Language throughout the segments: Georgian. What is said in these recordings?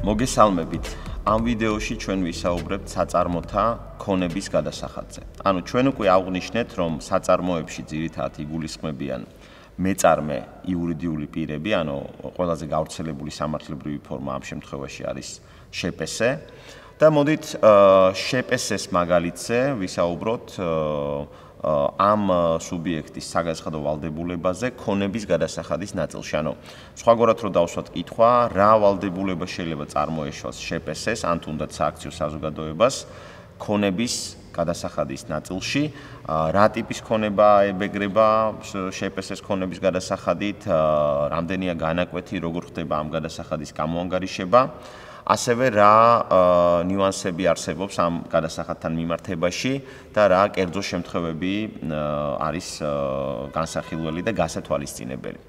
მოგესალმებით. Ამ ვიდეოში ჩვენ ვისაუბრებთ საწარმოთა ქონების გადასახადზე. ანუ ჩვენ უკვე აღვნიშნეთ, რომ საწარმოებში ძირითადად იგულისხმებიან მეწარმე იურიდიული პირები, ანუ ყველაზე გავრცელებული სამართლებრივი ფორმა ამ შემთხვევაში არის შპს და მოდით შპს-ის მაგალითზე ვისაუბროთ ამ სუბიექტის საგაცხადო ვალდებულებაზე ქონების გადასახადის ნაწილში. ანუ სხვაგვარად რო დავსვათ კითხვა, რა ვალდებულება შეიძლება წარმოეშვას შპს-ს ან თუნდაც სააქციო საზოგადოებას ქონების გადასახადის ნაწილში, რა ტიპის ქონება ებეგრება შპს-ს ქონების გადასახადით, რამდენია განაკვეთი, როგორ ხდება ამ გადასახადის გამოანგარიშება, ასევე რა ნიუანსები არსებობს ამ გადასახადთან მიმართებაში და რა კერძო შემთხვევები არის განსახილველი და გასათვალისწინებელი.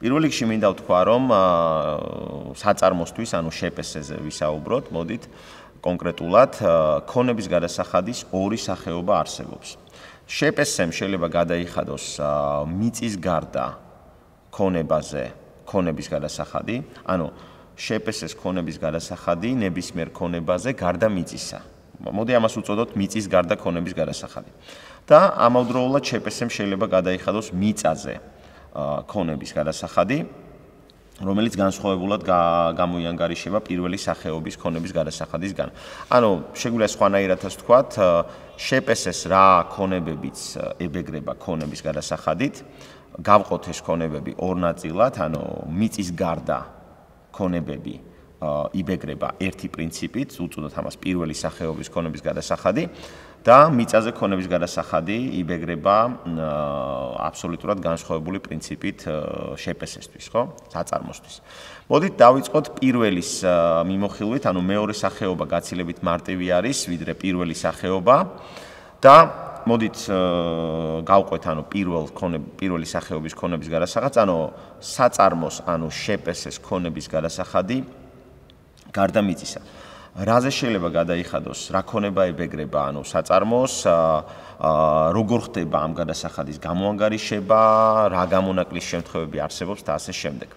პირველ რიგში მინდა ვთქვა, რომ საწარმოსთვის, ანუ შპს-ზე ვისაუბროთ, მოდით კონკრეტულად ქონების გადასახადის ორი სახეობა არსებობს. შპს-ს შეიძლება გადაიხადოს მიწის გარდა ქონებაზე ქონების გადასახადი, ანუ შპს-ს ქონების გადასახადი ნებისმიერ ქონებაზე გარდა მიწისა. მოდი ამას უწოდოთ მიწის გარდა ქონების გადასახადი. და ამავდროულად შპს-მ შეიძლება გადაიხადოს მიწაზე ქონების გადასახადი, რომელიც განსხვავებულად გამოიანგარიშება პირველი სახეობის ქონების გადასახადისგან. ანუ შეგვიძლია სხვანაირადაც ვთქვათ, შპს-ს რა ქონებებიც ებეგრება ქონების გადასახადით, გავყოთ ეს ქონებები ორ ნაწილად, ანუ მიწის გარდა ქონებები იბეგრება ერთი პრინციპით, უწოდოთ ამას პირველი სახეობის ქონების გადასახადი და მიწაზე ქონების გადასახადი იბეგრება აბსოლუტურად განსხვავებული პრინციპით შპს-ისთვის, ხო? საწარმოსთვის. მოდით დავიწყოთ პირველის მიმოხილვით, ანუ მეორე სახეობა გაცილებით მარტივი არის, ვიდრე პირველი სახეობა და მოდით გავყვეთ, ანუ პირველი სახეობის ქონების გადასახადს, ანუ საწარმოს, ანუ შპს-ს ქონების გადასახადი გარდა მიწისა. რაზე შეიძლება გადაიხადოს, რა ქონება ებეგრება, ანუ საწარმოს, როგორ ხდება ამ გადასახადის გამოანგარიშება, რა გამონაკლის შემთხვევები არსებობს და ასე შემდეგ.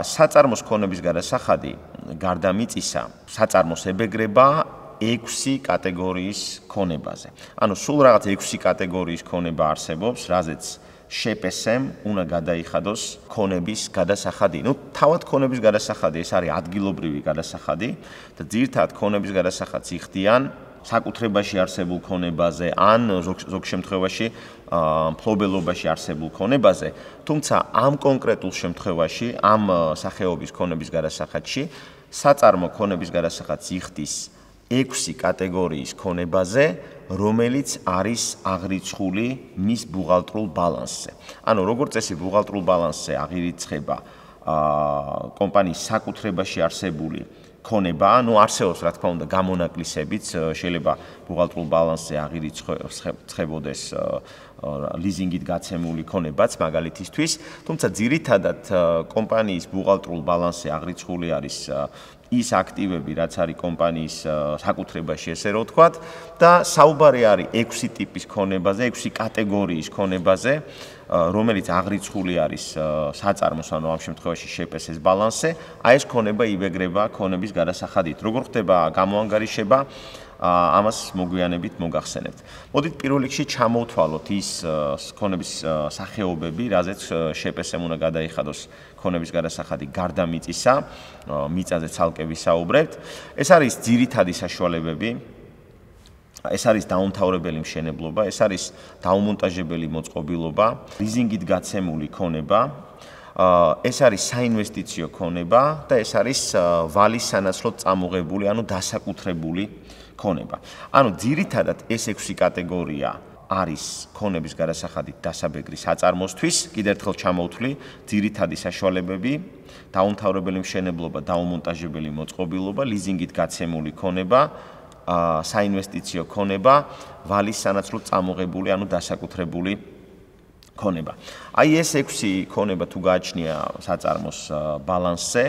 საწარმოს ქონების გადასახადი გარდა მიწისა, საწარმოს ებეგრება 6 კატეგორიის ქონებაზე. ანუ სულ რაღაც 6 კატეგორიის ქონება არსებობს, რაზეც შპს-მ უნდა გადაიხადოს ქონების გადასახადი. თავად ქონების გადასახადი ეს არის ადგილობრივი გადასახადი და ძირითადად ქონების გადასახადს იხდიან საკუთრებაში არსებულ ქონებაზე ან ზოგ შემთხვევაში მფლობელობაში არსებულ ქონებაზე, თუმცა ამ კონკრეტულ შემთხვევაში, ამ სახეობის ქონების გადასახადში საწარმო ქონების გადასახადს იხდის 6 კატეგორიის ქონებაზე, რომელიც არის აღრიცხული მის ბუღალტრულ ბალანსზე. ანუ როგორც წესი ბუღალტრულ ბალანსზე აღირიცხება კომპანიის საკუთრებაში არსებული ქონება, ანუ არსებობს რა თქმა უნდა გამონაკლისებიც, შეიძლება ბუღალტრულ ბალანსზე აღირიცხებოდეს ლიზინგით გაცემული ქონებაც მაგალითისთვის, თუმცა ძირითადად კომპანიის ბუღალტრულ ბალანსზე აღრიცხული არის ის აქტივები, რაც არის კომპანიის საკუთრებაში, ესე რომ ვთქვათ, და საუბარი არის 6 ტიპის ქონებაზე, 6 კატეგორიის ქონებაზე, რომელიც აღრიცხული არის საწარმოს, ანუ ამ შემთხვევაში შპს-ს ბალანსზე, აი ეს ქონება იბეგრება ქონების გადასახადით. როგორ ხდება გამოანგარიშება, ამას მოგვიანებით მოგახსენებთ. მოდით პირველ რიგში ჩამოვთვალოთ ის ქონების სახეობები, რაზეც შპს-მ უნდა გადაიხადოს ქონების გადასახადი გარდა მიწისა, მიწაზე ცალკე ვისაუბრებთ. ეს არის ძირითადი საშუალებები, ეს არის დაუმთავრებელი მშენებლობა, ეს არის დაუმონტაჟებელი მოწყობილობა, ლიზინგით გაცემული ქონება, ეს არის საინვესტიციო ქონება და ეს არის ვალის სანაცვლოდ წამოღებული, ანუ დასაკუთრებული ქონება. ანუ ძირითადად ეს 6 კატეგორია არის ქონების გადასახადით დასაბეგრი საწარმოსთვის, კიდევ ერთხელ ჩამოვთვლი, ძირითადი საშუალებები, დაუმთავრებელი მშენებლობა, დაუმონტაჟებელი მოწყობილობა, ლიზინგით გაცემული ქონება, საინვესტიციო ქონება, ვალის სანაცვლოდ წამოღებული, ანუ დასაკუთრებული ქონება. აი ეს 6 ქონება თუ გააჩნია საწარმოს ბალანსზე,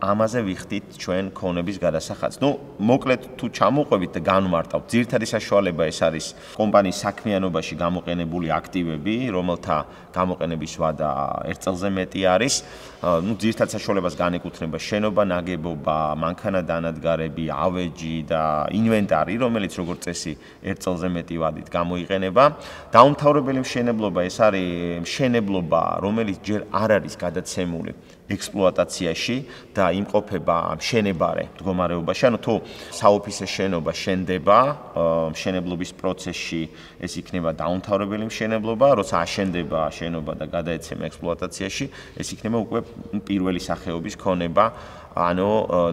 ამაზე ვიხდით ჩვენ ქონების გადასახადს. მოკლედ თუ ჩამოვყვებით და განვმარტავთ, ძირითადი საშუალება ეს არის კომპანიის საქმიანობაში გამოყენებული აქტივები, რომელთა გამოყენების ვადა 1 წელზე მეტი არის. ძირითად საშუალებას განეკუთვნება შენობა, ნაგებობა, მანქანა-დანადგარები, ავეჯი და ინვენტარი, რომელიც როგორც წესი 1 წელზე მეტი ვადით გამოიყენება. დაუმთავრებელი მშენებლობა ეს არის მშენებლობა, რომელიც ჯერ არ არის გადაცემული ექსპლუატაციაში და იმყოფება მშენებარე მდგომარეობაში. ანუ თუ საოფისე შენობა შენდება, მშენებლობის პროცესში ეს იქნება დაუმთავრებელი მშენებლობა, როცა აშენდება შენობა და გადაეცემა ექსპლუატაციაში, ეს იქნება უკვე პირველი სახეობის ქონება, ანუ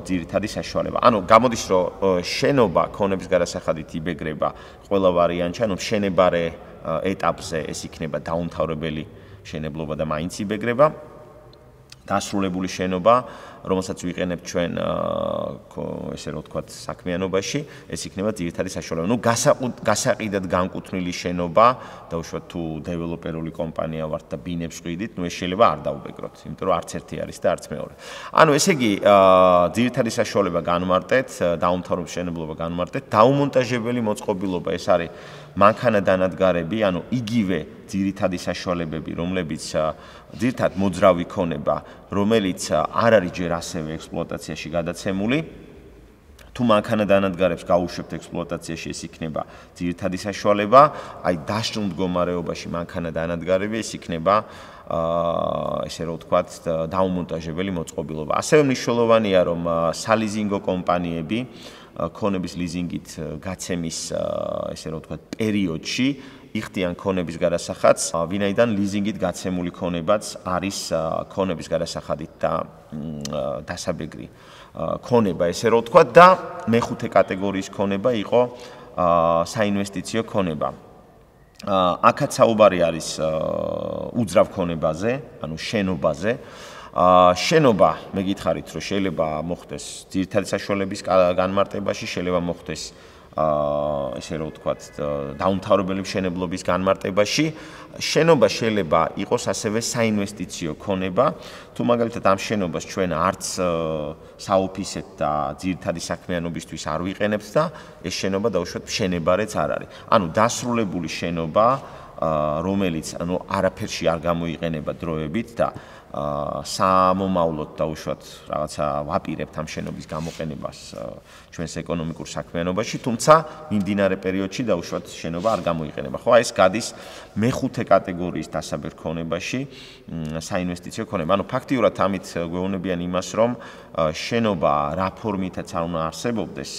ძირითადი საშუალება. ანუ გამოდის, რომ შენობა ქონების გადასახადით იბეგრება ყველა ვარიანტში, ანუ მშენებარე ეტაპზე ეს იქნება დაუმთავრებელი მშენებლობა და მაინც იბეგრება. დასრულებული შენობა, რომელსაც ვიყენებთ ჩვენ ესე რომ ვთქვათ საქმიანობაში, ეს იქნება ძირითადი საშუალება. გასაყიდად განკუთვნილი შენობა, დაუშვათ თუ დეველოპერული კომპანია ვართ და ბინებს ვყიდით, ეს შეიძლება არ დაუბეგროთ, იმიტომ რომ არც ერთი არის და არც მეორე. ანუ ესე იგი, ძირითადი საშუალება განვმარტეთ, დაუმთავრებელი მშენებლობა განვმარტეთ, დაუმონტაჟებელი მოწყობილობა, ეს არის მანქანა-დანადგარები, ანუ იგივე ძირითადი საშუალებები, რომლებიც ძირითად მოძრავი ქონება, რომელიც არ არის ჯერ ასევე ექსპლუატაციაში გადაცემული. თუ მანქანა-დანადგარებს გაუშვებთ ექსპლუატაციაში, ეს იქნება ძირითადი საშუალება, აი დაშლილ მდგომარეობაში მანქანა-დანადგარები, ეს იქნება ესე რომ ვთქვათ, დაუმონტაჟებელი მოწყობილობა. ასევე მნიშვნელოვანია, რომ სალიზინგო კომპანიები ქონების ლიზინგით გაცემის ესე რომ ვთქვათ პერიოდში იხდიან ქონების გადასახადს, ვინაიდან ლიზინგით გაცემული ქონებაც არის ქონების გადასახადით და დასაბეგრი ქონება, ესე რომ ვთქვათ, და მეხუთე კატეგორიის ქონება იყო საინვესტიციო ქონება. აქაც საუბარი არის უძრავ ქონებაზე, ანუ შენობაზე. შენობა, მე გითხარით, რომ შეიძლება მოხდეს ძირითადი საშუალების განმარტებაში, შეიძლება მოხდეს ესე რომ ვთქვათ, დაუმთავრებელი მშენებლობის განმარტებაში. შენობა შეიძლება იყოს ასევე საინვესტიციო ქონება. თუ მაგალითად ამ შენობას ჩვენ არც საოფისეთ და ძირითადი საქმიანობისთვის არ ვიყენებთ და ეს შენობა დაუშვათ მშენებარეც არ არის. ანუ დასრულებული შენობა, რომელიც არაფერში არ გამოიყენება დროებით და სამომავლოდ დაუშვათ რაღაცა ვაპირებთ ამ შენობის გამოყენებას ჩვენს ეკონომიკურ საქმიანობაში, თუმცა მიმდინარე პერიოდში დაუშვათ შენობა არ გამოიყენება. ხო, ეს გადის მეხუთე კატეგორიის დასაბეგრ ქონებაში, საინვესტიციო ქონება. ანუ ფაქტიურად ამით გვეუბნებიან იმას, რომ შენობა რა ფორმითაც არ უნდა არსებობდეს,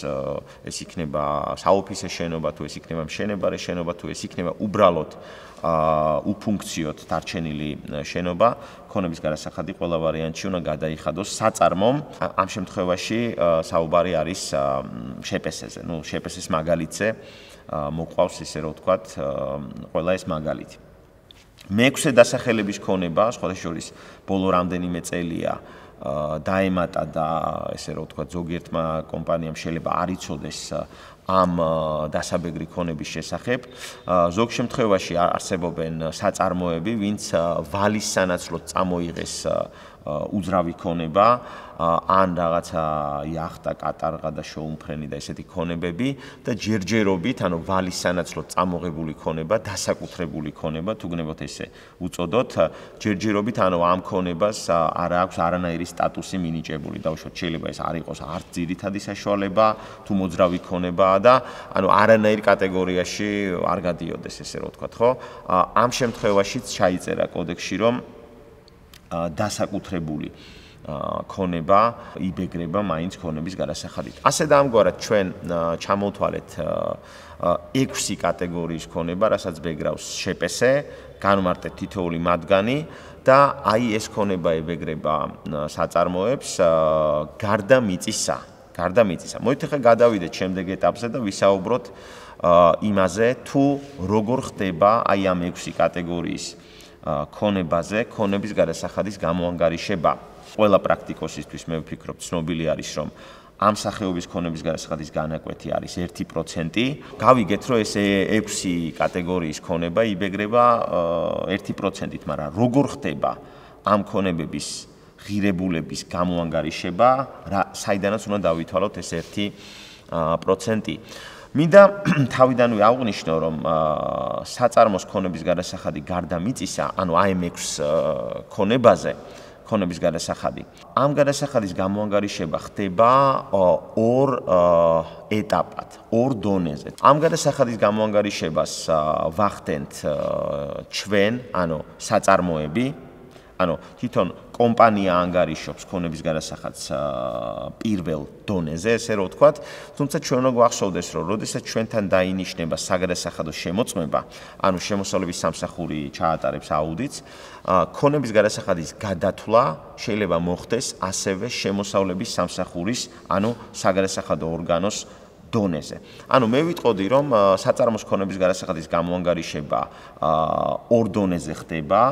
ეს იქნება საოფისე შენობა, თუ ეს იქნება მშენებარე შენობა, თუ ეს იქნება უბრალოდ უფუნქციოდ დარჩენილი შენობა, ქონების გადასახადი ყველა ვარიანტში უნდა გადაიხადოს საწარმომ. ამ შემთხვევაში საუბარი არის შეპესეზე. შეპესეს მაგალითზე მოყვავს, ესე რომ ვთქვათ, ყველა ეს მაგალითი. მეექვსე დასახელების ქონება, სხვათა შორის, ბოლო რამდენიმე წელია დაემატა და ესე რომ ვთქვათ, ზოგიერთმა კომპანიამ შეიძლება არ იცოდეს ამ დასაბეგრი ქონების შესახებ. ზოგ შემთხვევაში არსებობენ საწარმოები, ვინც ვალის სანაცვლოდ წამოიღეს უძრავი ქონება, ან რაღაცა იახტა, კატარღა და შოუმფრენი და ესეთი ქონებები და ჯერჯერობით, ანუ ვალის სანაცვლოდ წამოღებული ქონება, დასაკუთრებული ქონება, თუ გნებოთ ესე უწოდოთ, ჯერჯერობით, ანუ ამ ქონებას არ აქვს არანაირი სტატუსი მინიჭებული. დაუშვათ, შეიძლება ეს არ იყოს არც ძირითადი საშუალება, თუ მოძრავი ქონებაა და ანუ არანაირ კატეგორიაში არ გადიოდეს, ესე რომ ვთქვათ, ხო? ამ შემთხვევაშიც ჩაიწერა კოდექსში, რომ დასაკუთრებული ქონება იბეგრება მაინც ქონების გადასახადით. ასე და ამგვარად ჩვენ ჩამოვთვალეთ 6 კატეგორიის ქონება, რასაც ბეგრავს შეპესე, განვმარტეთ თითოეული მათგანი და აი ეს ქონება იბეგრება საწარმოებს გარდა მიწისა. მოით ახლა გადავიდეთ შემდეგ ეტაპზე და ვისაუბროთ იმაზე, თუ როგორ ხდება აი ამ 6 კატეგორიის ქონებაზე, ქონების გადასახადის გამოანგარიშება. ყველა პრაქტიკოსისთვის მე ვფიქრობ, ცნობილი არის, რომ ამ სახეობის ქონების გადასახადის განაკვეთი არის 1%. გავიგეთ, რომ ეს 6 კატეგორიის ქონება იბეგრება 1%-ით, მაგრამ როგორ ხდება ამ ქონებების ღირებულების გამოანგარიშება, საიდანაც უნდა დავითვალოთ ეს 1%. მინდა თავიდანვე აღვნიშნო, რომ საწარმოს ქონების გადასახადი გარდა მიწისა, ანუ AM6 ქონების გადასახადი. ამ გადასახადის გამოანგარიშება ხდება ორ ეტაპად, ორ დონეზე. ამ გადასახადის გამოანგარიშებას ვახდენთ ჩვენ, ანუ საწარმოები, ანუ თვითონ კომპანია ანგარიშობს ქონების გადასახადს პირველ დონეზე, ესე რომ ვთქვათ, თუმცა ჩვენ უნდა გვახსოვდეს, რომ როდესაც ჩვენთან დაინიშნება საგადასახადო შემოწმება, ანუ შემოსავლების სამსახური ჩაატარებს აუდიტს, ქონების გადასახადის გადათვლა შეიძლება მოხდეს ასევე შემოსავლების სამსახურის, ანუ საგადასახადო ორგანოს დონეზე. ანუ მე ვიტყოდი, რომ საწარმოს ქონების გადასახადის გამოანგარიშება ორ დონეზე ხდება.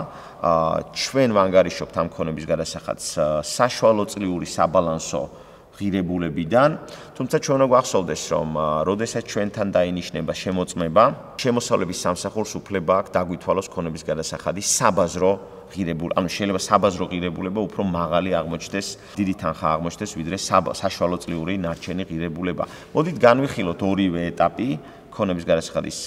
ჩვენ ვანგარიშობთ ამ ქონების გადასახადს საშუალო წლიური საბალანსო ღირებულებიდან, თუმცა ჩვენ უნდა გვახსოვდეს, რომ როდესაც ჩვენთან დაინიშნება შემოწმება, შემოსავლების სამსახურს უფლება აქვს დაგვითვალოს ქონების გადასახადის საბაზრო ღირებულება, ანუ შეიძლება საბაზრო ღირებულება უფრო მაღალი აღმოჩნდეს, დიდი თანხა აღმოჩნდეს, ვიდრე საშუალო წლიური ნარჩენი ღირებულება. მოდით განვიხილოთ ორივე ეტაპი ქონების გადასახადის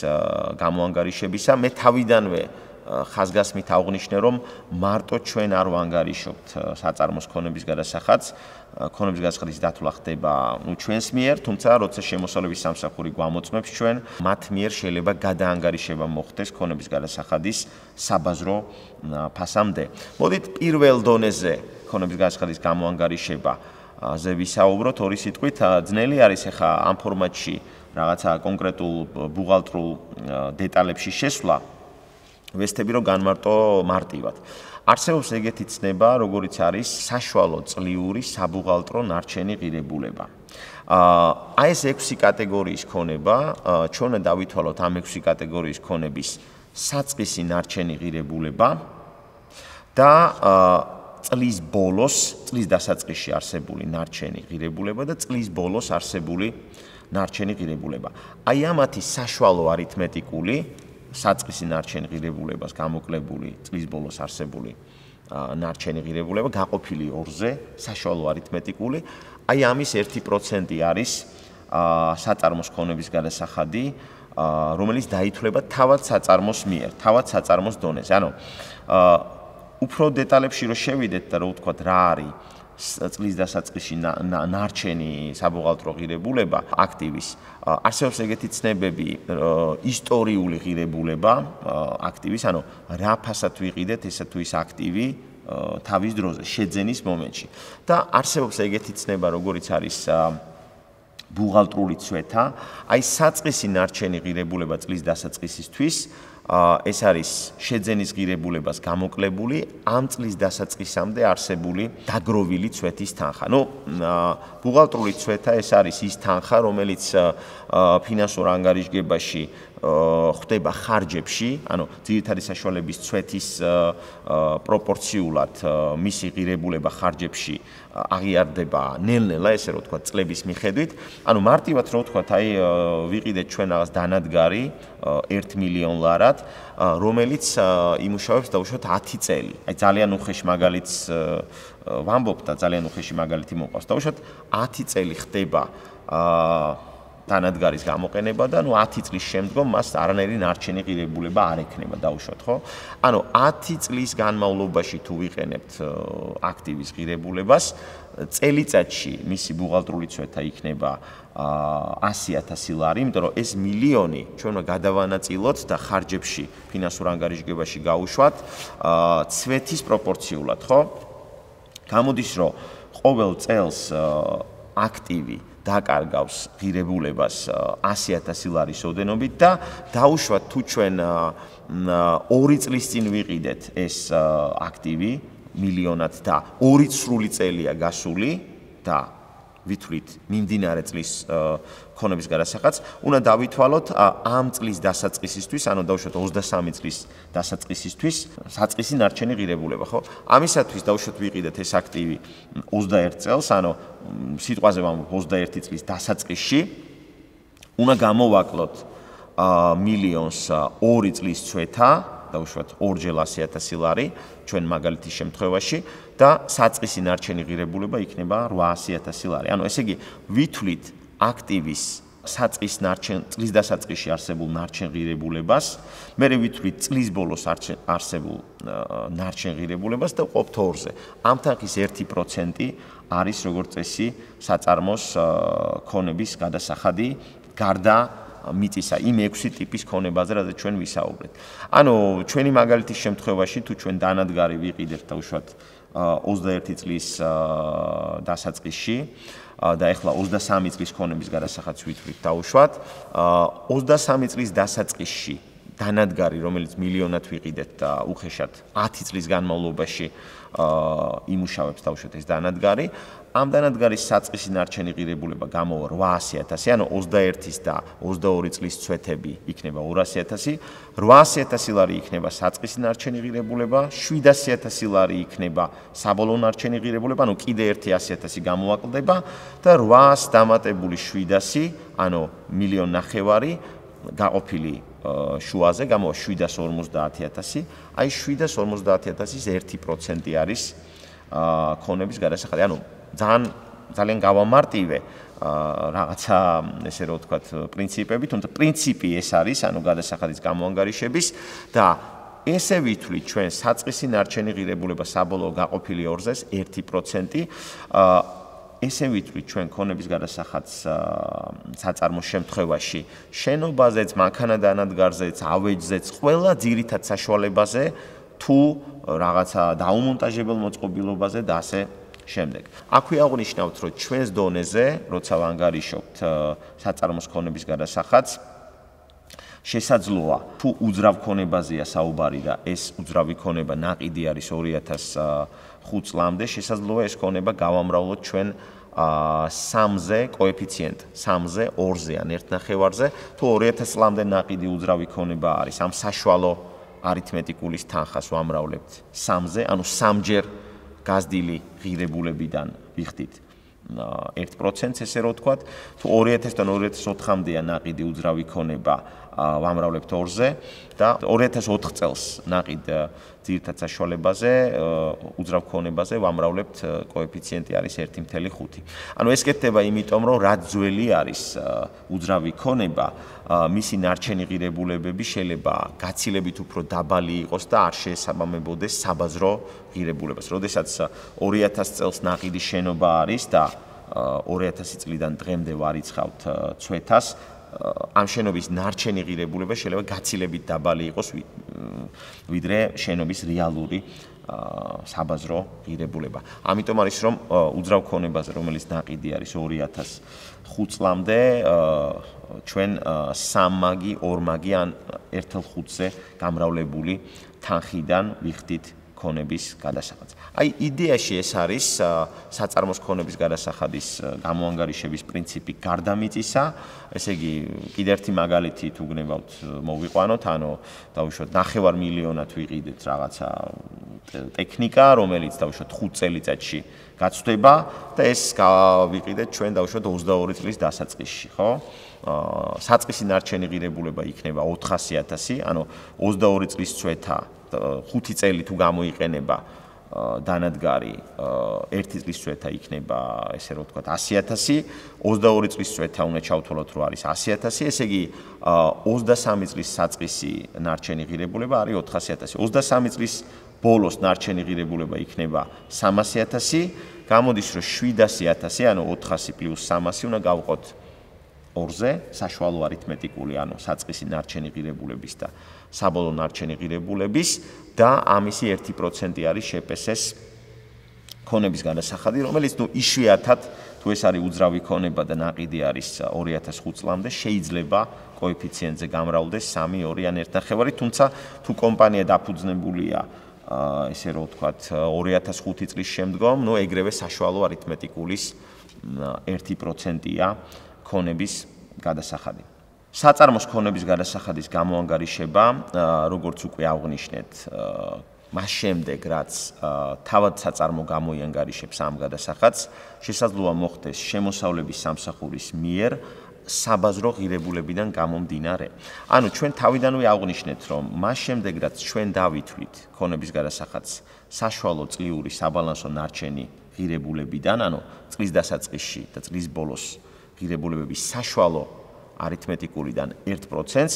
გამოანგარიშებისა. მე თავიდანვე ხაზგასმით აღვნიშნე, რომ მარტო ჩვენ არ ვანგარიშობთ საწარმოს ქონების გადასახადს. ქონების გადასახადის დათვლა ხდება ჩვენს მიერ, თუმცა როცა შემოსავლების სამსახური გვამოწმებს ჩვენ, მათ მიერ შეიძლება გადაანგარიშება მოხდეს ქონების გადასახადის საბაზრო ფასამდე. მოდით პირველ დონეზე ქონების გადასახადის გამოანგარიშებაზე ვისაუბროთ ორი სიტყვით. ძნელი არის ახლა ამ ფორმატში რაღაცა კონკრეტულ ბუღალტრულ დეტალებში შესვლა. ვესწრები რომ განმარტო მარტივად. არსებობს ეგეთი ცნება, როგორიც არის საშუალო წლიური საბუღალტრო ნარჩენი ღირებულება. აი ეს 6 კატეგორიის ქონება, ჩვენ დავითვალოთ ამ 6 კატეგორიის ქონების საწყისი ნარჩენი ღირებულება და წლის ბოლოს, წლის დასაწყისში არსებული ნარჩენი ღირებულება და წლის ბოლოს არსებული ნარჩენი ღირებულება. აი ამათი საშუალო არითმეტიკული საწყისი ნარჩენი ღირებულებას გამოკლებული წლის ბოლოს არსებული ნარჩენი ღირებულება გაყოფილი ორზე, საშუალო არითმეტიკული, აი ამის 1% არის საწარმოს ქონების გადასახადი, რომელიც დაითვლება თავად საწარმოს მიერ, თავად საწარმოს დონეზე. ანუ უფრო დეტალებში რო შევიდეთ და რო ვთქვათ რა არის წლის დასაწყისში ნარჩენი საბუღალტრო ღირებულება აქტივის, არსებობს ეგეთი ცნებები, ისტორიული ღირებულება აქტივის, ანუ რა ფასად ვიყიდეთ ესა თუ ის აქტივი თავის დროზე, შეძენის მომენტში. და არსებობს ეგეთი ცნება, როგორიც არის ბუღალტრული ცვეთა, აი საწყისი ნარჩენი ღირებულება წლის დასაწყისისთვის, ეს არის შეძენის ღირებულებას გამოკლებული ამ წლის დასაწყისამდე არსებული დაგროვილი ცვეთის თანხა. ნუ ბუღალტრული ცვეთა ეს არის ის თანხა, რომელიც ფინანსურ ანგარიშგებაში ხდება ხარჯებში, ანუ ძირითადი საშუალების ცვეთის პროპორციულად მისი ღირებულება ხარჯებში აღიარდება ნელ-ნელა, ესე რომ ვთქვათ, წლების მიხედვით. ანუ მარტივად რომ ვთქვათ, აი ვიყიდეთ ჩვენ რაღაც დანადგარი 1 მილიონ ლარად, რომელიც იმუშავებს დაუშვათ 10 წელი. აი ძალიან უხეში მაგალითს ვამბობ და ძალიან უხეში მაგალითი მოყავს. დაუშვათ 10 წელი ხდება დანადგარის გამოყენება და ნუ 10 წლის შემდგომ მას არანაირი ნარჩენი ღირებულება არ ექნება, დაუშვათ, ხო? ანუ 10 წლის განმავლობაში თუ ვიყენებთ აქტივის ღირებულებას, წელიწადში მისი ბუღალტრული ცვეთა იქნება 100,000 ლარი, იმიტომ რომ ეს მილიონი ჩვენ გადავანაწილოთ და ხარჯებში ფინანსურ ანგარიშგებაში გავუშვათ ცვეთის პროპორციულად, ხო? გამოდის, რომ ყოველ წელს აქტივი დაკარგავს ღირებულებას 100,000 ლარის ოდენობით და დაუშვათ თუ ჩვენ 2 წლის წინ ვიყიდეთ ეს აქტივი მილიონად და 2 სრული წელია გასული და ვითვლით მიმდინარე წლის ქონების გადასახადს, უნდა დავითვალოთ ამ წლის დასაწყისისთვის, ანუ დავუშვათ 23 წლის დასაწყისისთვის საწყისი ნარჩენი ღირებულება, ხო? ამისათვის დავუშვათ ვიყიდეთ ეს აქტივი 21 წელს, ანუ სიტყვაზე ვამბობ 21 წლის დასაწყისში, უნდა გამოვაკლოთ მილიონს 2 წლის ცვეთა, დაუშვათ ორჯერ 100.000 ლარი ჩვენ მაგალითის შემთხვევაში და საწყისი ნარჩენი ღირებულება იქნება 800.000 ლარი. ანუ ესე იგი ვითვლით აქტივის საწყის წლის დასაწყისში არსებულ ნარჩენ ღირებულებას, მე ვითვლით წლის ბოლოს არსებულ ნარჩენ ღირებულებას და ვყოფთ 2-ზე. ამ თანხის 1% არის როგორც წესი საწარმოს ქონების გადასახადი გარდა მიწისა იმ 6 ტიპის ქონებაზე, რადგან ჩვენ ვისაუბრეთ. ანუ ჩვენი მაგალითის შემთხვევაში თუ ჩვენ დანადგარი ვიყიდეთ დაუშვათ 21 წლის დასაწყისში და ეხლა 23 წლის ქონების გადასახადს ვითვლით დაუშვათ 23 წლის დასაწყისში დანადგარი რომელიც მილიონად ვიყიდეთ და უხეშად 10 წლის განმავლობაში იმუშავებს დაუშვათ ეს დანადგარი ამ დანადგარის საწყისი ნარჩენი ღირებულება გამოვა 800.000 ანუ 21-ის და 22 წლის წვეთები იქნება 200.000 800.000 ლარი იქნება საწყისი ნარჩენი ღირებულება 700.000 ლარი იქნება საბოლოო ნარჩენი ღირებულება ანუ კიდე 100.000 გამოვაკლდება და 800 დამატებული 700 ანუ 1,900,000 გაყოფილი შუაზე გამოვა 750.000 აი 750.000-ის 1% არის ქონების გადასახადი ანუ ძალიან გავამარტივე რაღაცა ესე რომ ვთქვათ პრინციპები, თუმცა პრინციპი ეს არის, ანუ გადასახადის გამოანგარიშების და ესე ვითვლით ჩვენ საწყისი ნარჩენი ღირებულება საბოლოო გაყოფილი 2-ზეს 1%, ესე ვითვლით ჩვენ ქონების გადასახადს საწარმოს შემთხვევაში შენობაზეც, მანქანა-დანადგარზეც, ავეჯზეც, ყველა ძირითად საშუალებაზე თუ რაღაცა დაუმონტაჟებელ მოწყობილობაზე და ასე შემდეგ. აქვე აღნიშნავთ, რომ ჩვენს დონეზე, როცა ვანგარიშობთ საწარმოს ქონების გადასახადს, შესაძლოა თუ უძრავ ქონებაზეა საუბარი და ეს უძრავი ქონება ნაყიდი არის 2005 წლამდე, შესაძლოა ეს ქონება გავამრავლოთ ჩვენ 3-ზე კოეფიციენტ, 3-ზე, 2-ზე ან 1.5-ზე, თუ 2000 წლამდე ნაყიდი უძრავი ქონება არის, ამ საშუალო არითმეტიკულის თანხას ვამრავლებთ 3-ზე, ანუ 3-ჯერ გაზრდილი ღირებულებიდან ვიხდით 1%-ს ესე რომ ვთქვათ, თუ 2000-დან 2004-მდეა ნაყიდი უძრავი ქონება ვამრავლებთ 2-ზე და 2004 წელს ნაყიდ ძირითად საშუალებაზე უძრავ ქონებაზე ვამრავლებთ კოეფიციენტი არის 1.5. ანუ ეს კეთდება იმიტომ, რომ რაც ძველი არის უძრავი ქონება, მისი ნარჩენი ღირებულებები შეიძლება გაცილებით უფრო დაბალი იყოს და არ შეესაბამებოდეს საბაზრო ღირებულებას. როდესაც 2000 წელს ნაყიდი შენობა არის და 2000 წლიდან დღემდე ვარიცხავთ წვეთას, ამ შენობის ნარჩენი ღირებულება შეიძლება გაცილებით დაბალი იყოს ვიდრე შენობის რეალური საბაზრო ღირებულება. ამიტომ არის რომ უძრავ ქონებაზე რომელიც ნაყიდი არის 2005 წლამდე ჩვენ 3 მაგი, 2 მაგი ან 1/5-ზე გამრავლებული თანხიდან ვიხდით ქონების გადასახადს. აი იდეაში ეს არის საწარმოს ქონების გადასახადის გამოანგარიშების პრინციპი გარდა მიწისა, ესე იგი კიდევ ერთი მაგალითი თუ გნებავთ მოვიყვანოთ, ანუ დავუშვათ 500,000-ად ვიყიდეთ რაღაცა ტექნიკა, რომელიც დავუშვათ 5 წელიწადში გაცვდება და ეს გავიყიდეთ ჩვენ დავუშვათ 22 წლის დასაწყისში, ხო? საწყისი ნარჩენი ღირებულება იქნება 400.000, ანუ 22 წლის წვეთა 5 წელი თუ გამოიყენება დანადგარი 1 წლის წვეთა იქნება ესე რომ ვთქვათ 100.000, 22 წლის წვეთა უნდა ჩავთვალოთ რომ არის 100.000, ესე იგი 23 წლის საწყისი ნარჩენი ღირებულება არის 400.000. 23 წლის ბოლოს ნარჩენი ღირებულება იქნება 300.000, გამოდის რომ 700.000, ანუ 400 + 300 უნდა გავყოთ 2-ზე, საშუალო არითმეტიკული, ანუ საწყისი ნარჩენი ღირებულების და საბოლოო ნარჩენი ღირებულების და ამისი 1% არის შეპესეს ქონების გადასახადი, რომელიც იშვიათად თუ ეს არის უძრავი ქონება და ნაყიდი არის 2005 წლამდე, შეიძლება კოეფიციენტზე გამრავლდეს 3, 2 ან 1.5, თუმცა თუ კომპანია დაფუძნებულია ესე რომ ვთქვათ 2005 წლის შემდგომ, ეგრევე საშუალო არითმეტიკულის 1%-ია ქონების გადასახადი. საწარმოს ქონების გადასახადის გამოანგარიშება, როგორც უკვე აღვნიშნეთ, მას შემდეგ, რაც თავად საწარმო გამოიანგარიშებს ამ გადასახადს, შესაძლოა მოხდეს შემოსავლების სამსახურის მიერ საბაზრო ღირებულებიდან გამომდინარე. ანუ ჩვენ თავიდანვე აღვნიშნეთ, რომ მას შემდეგ რაც ჩვენ დავითვლით ქონების გადასახადს საშუალო წლიური საბალანსო ნარჩენი ღირებულებიდან, ანუ წლის დასაწყისში და წლის ბოლოს ღირებულებების საშუალო არითმეტიკურიდან 1%-ს,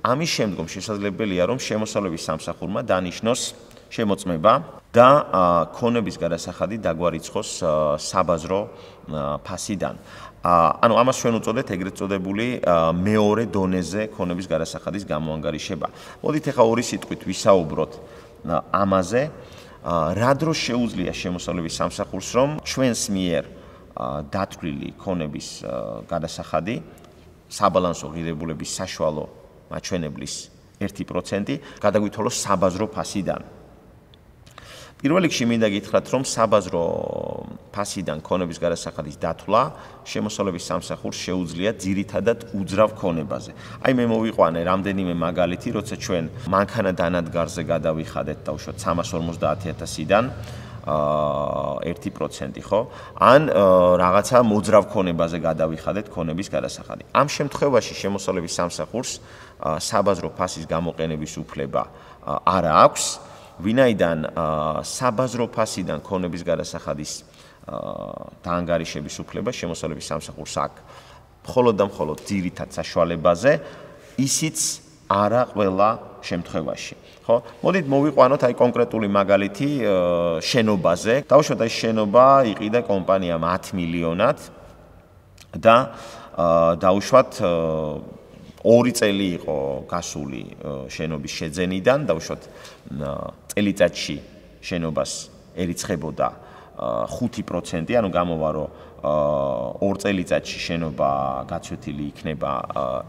ამის შემდგომ შესაძლებელია, რომ შემოსავლების სამსახურმა დანიშნოს შემოწმება და ქონების გადასახადი დაგვარიცხოს საბაზრო ფასიდან. ანუ ამას ჩვენ უწოდეთ ეგრეთ წოდებული მეორე დონეზე ქონების გადასახადის გამოანგარიშება. მოდით ახლა ორი სიტყვით ვისაუბროთ ამაზე, რა დროს შეუძლია შემოსავლების სამსახურს, რომ ჩვენს მიერ დათვლილი ქონების გადასახადი საბალანსო ღირებულების საშუალო მაჩვენებლის 1% გადაგვითვალოს საბაზრო ფასიდან. პირველ რიგში მინდა გითხრათ, რომ საბაზრო ფასიდან ქონების გადასახადის დათვლა შემოსავლების სამსახურს შეუძლია ძირითადად უძრავ ქონებაზე. აი მე მოვიყვანე რამდენიმე მაგალითი, როცა ჩვენ მანქანა დანადგარზე გადავიხადეთ დაუშვათ 350.000-დან 1%, ხო? ან რაღაცა მოძრავ ქონებაზე გადავიხადეთ ქონების გადასახადი. ამ შემთხვევაში შემოსავლების სამსახურს საბაზრო ფასის გამოყენების უფლება არ აქვს, ვინაიდან საბაზრო ფასიდან ქონების გადასახადის დაანგარიშების უფლება შემოსავლების სამსახურს აქვს მხოლოდ და მხოლოდ ძირითად საშუალებაზე, ისიც არა ყველა შემთხვევაში. ხო? მოდით მოვიყვანოთ აი კონკრეტული მაგალითი შენობაზე. დავუშვათ აი შენობა იყიდა კომპანიამ 10 მილიონად და დავუშვათ 2 წელი იყო გასული შენობის შეძენიდან, დავუშვათ წელიწადში შენობას ერიცხებოდა 5%, ანუ გამოვა რომ 2 წელიწადში შენობა გაცვეთილი იქნება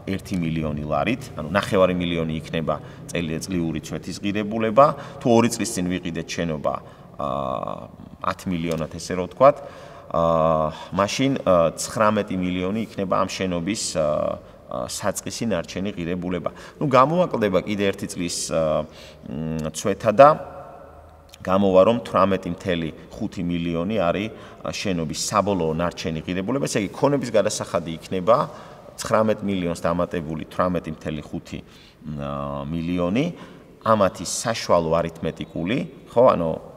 1 მილიონი ლარით, ანუ 9 მილიონი იქნება წლიური ცვეთის ღირებულება, თუ 2 წლის წინ ვიყიდეთ შენობა 10 მილიონად, ესე რომ ვთქვათ, მაშინ 19 მილიონი იქნება ამ შენობის საწყისი ნარჩენი ღირებულება. ნუ გამოაკლდება კიდე 1 წლის ცვეთა და გამოვა რომ 18.5 მილიონი არის შენობის საბოლოო ნარჩენი ღირებულება, ესე იგი ქონების გადასახადი იქნება 19 მილიონს დამატებული 18.5 მილიონი, ამათი საშუალო არითმეტიკული, ხო, ანუ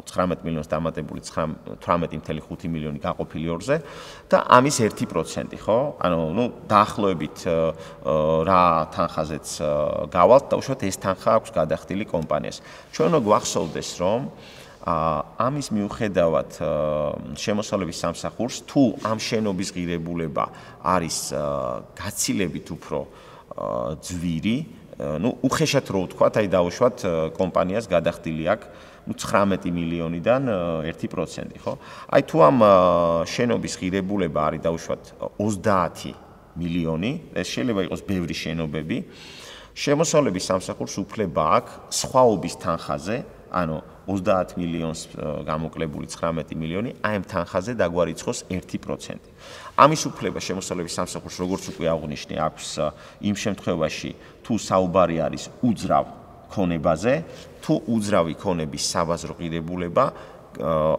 19 მილიონს დამატებული 18.5 მილიონი გაყოფილი 2-ზე და ამის 1%, ხო? ანუ ნუ დაახლოებით რა თანხაზეც გავალთ, დაუშვათ ეს თანხა აქვს გადახდილი კომპანიას. ჩვენ უნდა გვახსოვდეს, რომ ამის მიუხედავად შემოსავლების სამსახურს თუ ამ შენობის ღირებულება არის გაცილებით უფრო ძვირი, ნუ უხეშად რო ვთქვათ, აი დავუშვათ კომპანიას გადახდილი აქვს 19 მილიონიდან 1%, ხო? აი თუ ამ შენობის ღირებულება არის დავუშვათ 30 მილიონი, ეს შეიძლება იყოს ბევრი შენობები, შემოსავლების სამსახურს უფლება აქვს სხვაობის თანხაზე, ანუ 30 მილიონს გამოკლებული 19 მილიონი, აი ამ თანხაზე დაგვარიცხოს 1%. ამის უფლება შემოსავლების სამსახურს, როგორც უკვე აღვნიშნე, აქვს იმ შემთხვევაში, თუ საუბარი არის უძრავ ქონებაზე, თუ უძრავი ქონების საბაზრო ღირებულება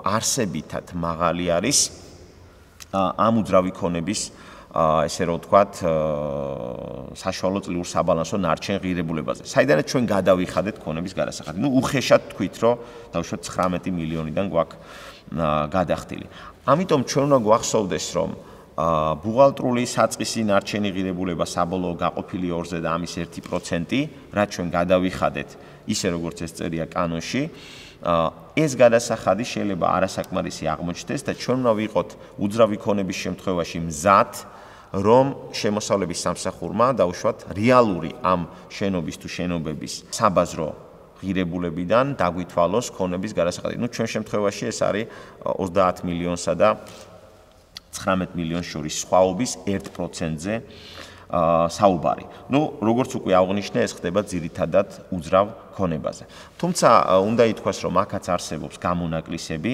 არსებითად მაღალი არის ამ უძრავი ქონების, ესე რომ ვთქვათ, საშუალო წლიურ საბალანსო ნარჩენ ღირებულებაზე. საიდანაც ჩვენ გადავიხადეთ ქონების გადასახადი. ნუ უხეშად თქვით, რომ დავუშვათ 19 მილიონიდან გვაქვს გადახდილი. ამიტომ ჩვენ უნდა გვახსოვდეს, რომ ბუღალტრული საწყისი ნარჩენი ღირებულება საბოლოო გაყოფილი 2-ზე და ამის 1%, რაც ჩვენ გადავიხადეთ, ისე როგორც ეს წერია კანონში, ეს გადასახადი შეიძლება არასაკმარისი აღმოჩნდეს და ჩვენ უნდა ვიყოთ უძრავი ქონების შემთხვევაში მზად, რომ შემოსავლების სამსახურმა დაუშვათ რეალური ამ შენობის თუ შენობების საბაზრო ღირებულებიდან დაგვითვალოს ქონების გადასახადი. ნუ ჩვენ შემთხვევაში ეს არის 30 მილიონსა და 19 მილიონს შორის სხვაობის 1%-ზე საუბარი. ნუ როგორც უკვე აღვნიშნე, ეს ხდება ძირითადად უძრავ ქონებაზე. თუმცა უნდა ითქვას, რომ აქაც არსებობს გამონაკლისები.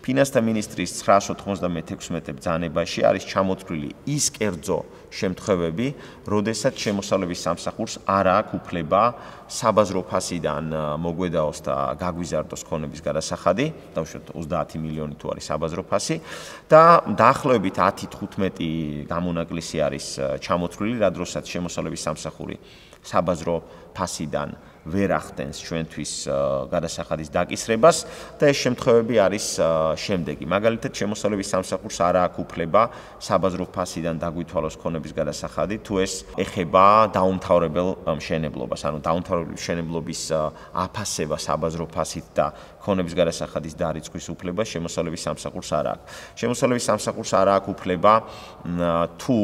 ფინანსთა მინისტრის 996 ბრძანებაში არის ჩამოთვლილი ის კერძო შემთხვევები, როდესაც შემოსავლების სამსახურს არ აქვს უფლება საბაზრო ფასიდან მოგვედაოს და გაგვიზარდოს ქონების გადასახადი, დავუშვათ 30 მილიონი თუ არის საბაზრო ფასი და დაახლოებით 10-15 გამონაკლისი არის ჩამოთვლილი, რა დროსაც შემოსავლების სამსახური საბაზრო ფასიდან ვერ ახდენს ჩვენთვის გადასახადის დაკისრებას და ეს შემთხვევები არის შემდეგი. მაგალითად, შემოსავლების სამსახურს არ აქვს უფლება საბაზრო ფასიდან დაგვითვალოს ქონების გადასახადი, თუ ეს ეხება დაუმთავრებელ მშენებლობას, ანუ დაუმთავრებელი მშენებლობის აფასება საბაზრო ფასით და ქონების გადასახადის დარიცხვის უფლება შემოსავლების სამსახურს არ აქვს. შემოსავლების სამსახურს არ აქვს უფლება თუ